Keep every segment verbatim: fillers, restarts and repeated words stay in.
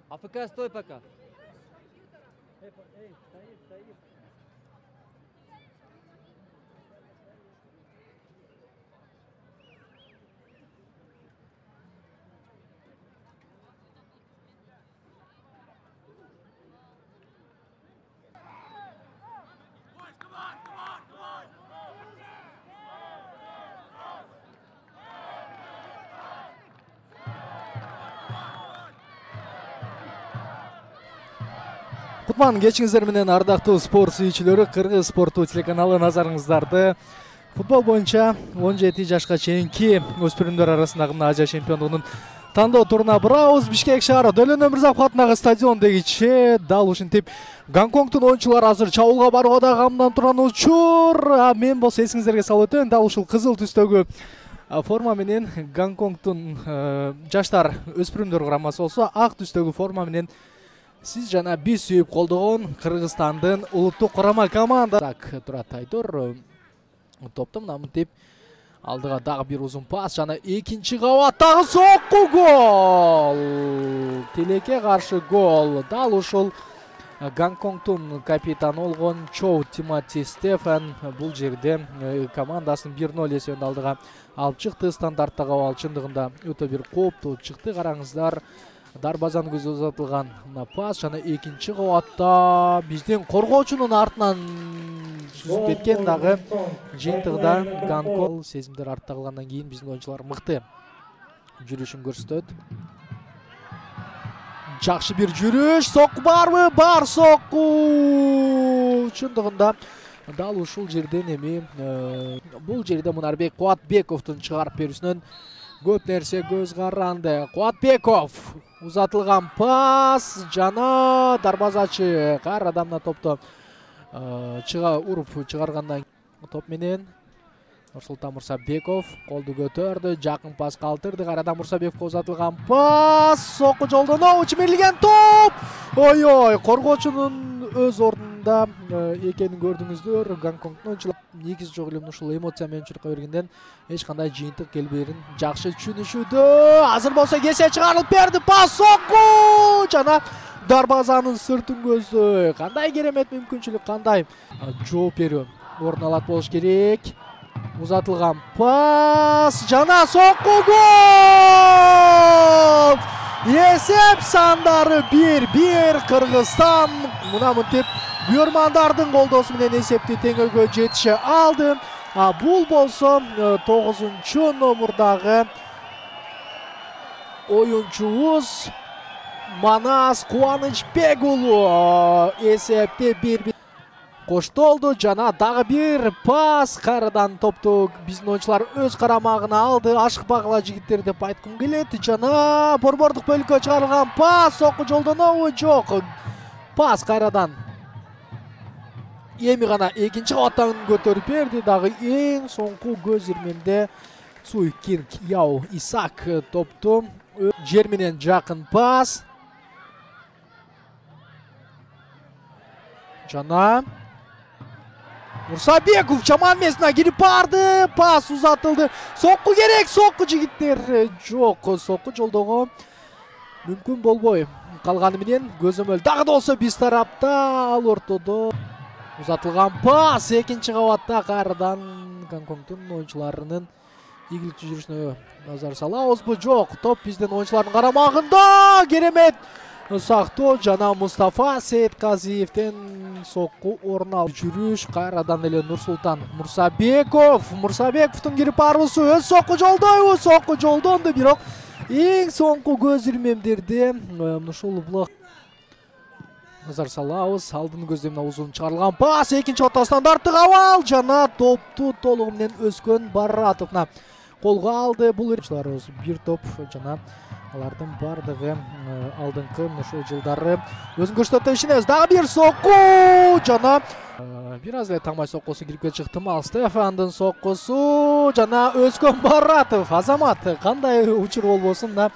АФК, стой пока. Эй, стоит, стоит. Кутман кечиңиздер менен ардактуу спорт сүйүүчүлөрү, Кыргыз спорттуу телеканалы назарыңыздарды футбол боюнча он жети жашка чейинки өспүрүмдөр арасындагы мына Азия чемпиондугунун тандоо туруна барабыз. Бишкек шаары Дөлөн Өмүрзаков атындагы стадиондегиче дал ушинтип Гонконгдун оюнчулары азыр чабуулга барууга да камдан турган учур. А мен болсо эсиңиздерге салып өтөйүн, дал ушул кызыл түстөгү форма менен Гонконгдун жаштар өспүрүмдөр курамасы болсо, ак түстөгү форма менен сиз жана биз сүйүп колдогон Кыргызстандын улуттук курама команда. Так турат Айдор топту мына мынтип алдыга дагы бир узун пас жана экинчи кабаттагы сокку гол. Тилекке каршы гол. Дал ушул Гонконгдун капитаны болгон Чоу Тимоти Стефан бул жерде командасын бир ноль эсебинде алдыга алып чыкты. Стандарттагы абал чындыгында өтө бир кооптуу чыкты. Караңыздар, дарбазаны көзү узатылган мына пас жана экинчи кабатта биздин коргоочунун артынан сүзүп кеткен дагы жыйынтыгында Гонконг сезимдер артта калгандан кийин биздин оюнчулар мыкты жүрүшүн көрсөтөт. Жакшы бир жүрүш, сокку барбы? Бар сокку. Чындыгында дал ушул жерден эми бул жерде Мунарбек Кубатбековдун чыгарып берүүсүнөн көп нерсе көз каранды. Кубатбеков узатылган пас жана дарбазачы кайрадан мына топту чыга уруп чыгаргандан топ менен Нурсултан Мурсабеков колду көтөрдү, жакын пас калтырды, кайрадан Мурсабековго узатылган пас, сокку жолдон чимирлеген топ. Ой-ой, коргоочунун өз ордунда экенин көрдүңүздөр. Гонконгдун оюнчулары негизи жок эле ушул эмоция менен чуркай бергенден эч кандай жыйынтык келбээрин жакшы түшүнүшүүдө. Азыр болсо кесе чыгарылып берди, пас, сокку жана дарбазанын сыртын көздөй. Кандай керемет мүмкүнчүлүк, кандай жооп берүү орун алат болуш керек. Узатылган пас жана сокку гол. Эсеп сандары бир бир. Кыргызстан мына мынтип буйрмандардын колдоосу менен эсепти теңөөгө жетише алды. А бул болсо тогузунчу номурдагы оюнчубуз Манас Кубанычбек уулу эсепти бир бир коштолду жана дагы бир пас. Кайрадан топту биздин оюнчулар өз карамагына алды. Ашыкпагыла жигиттер деп айткым келет. Жана борбордук бөлүккө чыгарылган пас, сокку жолдонобу? Жок. Пас кайрадан эми гана экинчи кабаттан көтөрүп берди. Дагы эң соңку көз ирмемде Цуй Кинг Яу Исак топту жер менен жакын пас жана Мурсабеков жаман месине кирип барды. Пас узатылды. Сокку керек, сокку жигиттер. Жок, сокку жолдого мүмкүн болбой калганы менен көзөмөл дагы да болсо биз тарапта. Ал ортодо узатылган пас экинчи кабатта кайрадан Гонконгдун оюнчуларынын ийгиликтүү жүрүшүнө назар салабызбы? Жок, топ биздин оюнчулардын карамагында. Керемет сактоо жана Мустафа Сейитказиевден сокку орун алып жүрүш. Кайрадан эле Нурсултан Мурсабеков. Мурсабековдун кирип баруусу өз сокку жолдойбу? Сокку жолдонду, бирок эң соңку көз ирмемдерде ушул блок назар салабыз. Алдын көздөй узун чыгарылган пас, экинчи кабатта стандарттык абал жана топту толугу менен Өскөн Баратовна колго алды. Бул оюнчуларыбыз бир топ жана алардын бардыгы алдыңкы ушул жылдары өзүн көрсөтөт ишенебиз. Дагы бир сокку жана бир аз эле таңбай соккусу кирип кетиши ыктымал. Стефандын соккусу жана Өскөн Баратов. Азамат, кандай учур болбосун, мына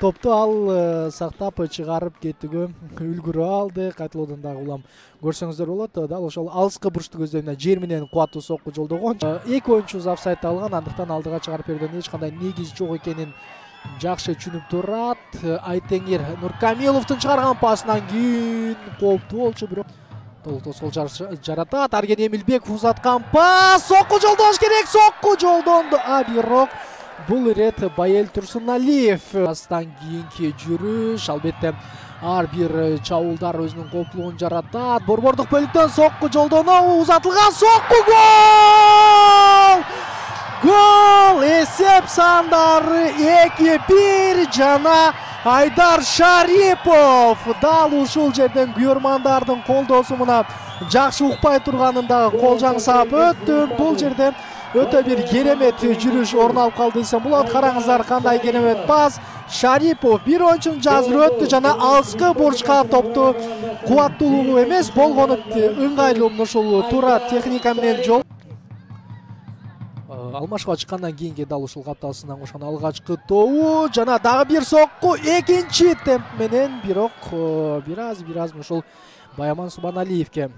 топту ал сактап чыгарып кетүүгө үлгүрө алды. Кайталоодан дагы улам көрсөңүздөр болот. Дал ошол алыскы бурчтук көздөмүнө жер менен кубаттуу сокку жолдогон. Эки оюнчубуз офсайдта алган, андыктан алдыга чыгарып берүүдөн эч кандай негиз жок экенин жакшы түшүнүп турат. Айтеңир Нуркамиловдун чыгарган пасынан кийин кооптуу болчу, бирок толук тоскоол жаратат. Арген Эмилбеков узаткан пас, сокку жолдош керек, сокку жолдонду. А бирок бул ирет Байел Турсуналиев. Пастан кийинки жүрүш, албетте ар бир чабуулдар өзүнүн кооптуулугун жаратат. Борбордук бөлүктөн сокку жолдонуу, узатылган сокку, гол! Гол! Эсеп сандары эки бир жана Айдар Шарипов дал ушул жерден күйөрмандардын колдосумуна жакшы укпай турганын дагы кол жаңсап өттү. Бул жерде өтө бир керемет жүрүш орун алып калды десем болот. Караңыздар кандай керемет пас. Шарипов бир оюнчунун жазыры өттү жана алыскы бурчка топту кубаттуулугу эмес болгону ыңгайлуу ушул туура техника менен жол алмашка чыккандан кийинки дал ушул капталысынан кошкон алгачкы тобу жана дагы бир сокку экинчи темп менен, бирок бир аз бир аз ушул Баяман Субаналиевке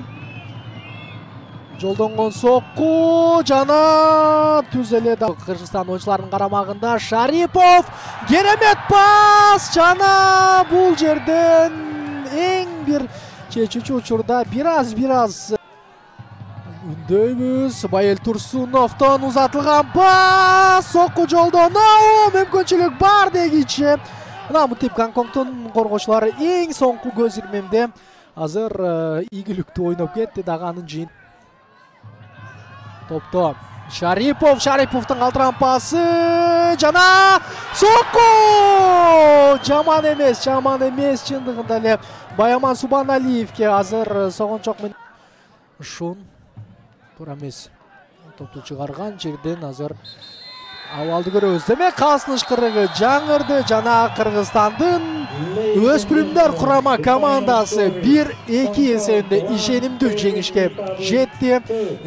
жолдонгон сокку жана түз эле Кыргызстан оюнчуларынын карамагында Шарипов керемет пас жана бул жерден эң бир чечүүчү учурда бир аз бир аз үндөйбүз. Байел Турсуновдон узатылган пас, сокку жолдонуу мүмкүнчүлүк бар дегиче. Мына Мутип Гонконгдун коргоочулары эң соңку көз ирмемде азыр ийгиликтүү ойноп кетти, дагы анын жыйын. Топто Шарипов, Шариповдун калтырган пасы жана сокку! Жаман эмес, жаман эмес чындыгында эле Баяман Субаналиевке азыр согончок менен Шун туура эмес топту чыгарган жерден азыр абалды көрөбүз. Демек калсын ышкырыгы жаңырды жана Кыргызстандын өспүрүмдөр курама командасы бир эки эсебинде ишенимдүү жеңишке жетти.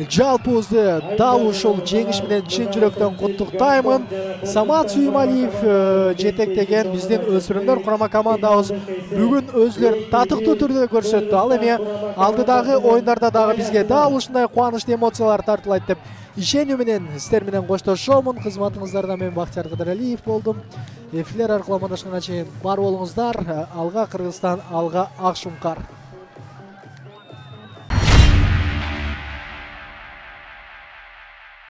Жалпыбызды дал ушул жеңиш менен чын жүрөктөн куттуктаймын. Самат Сүйүмалиев жетектеген биздин өспүрүмдөр курама командабыз бүгүн өзүлөрүн татыктуу түрдө көрсөттү. Ал эми алдыдагы оюндарда дагы бизге дал ушундай кубанычтуу эмоциялар тартуулайт деп ишенүү менен сиздер менен коштошомун. Кызматыңыздарда мен Бактияр Кыдыралиев болдум. Эфирлер аркылуу амандашканга чейин бар болуңуздар. Алга Кыргызстан, алга Ак Шуңкар.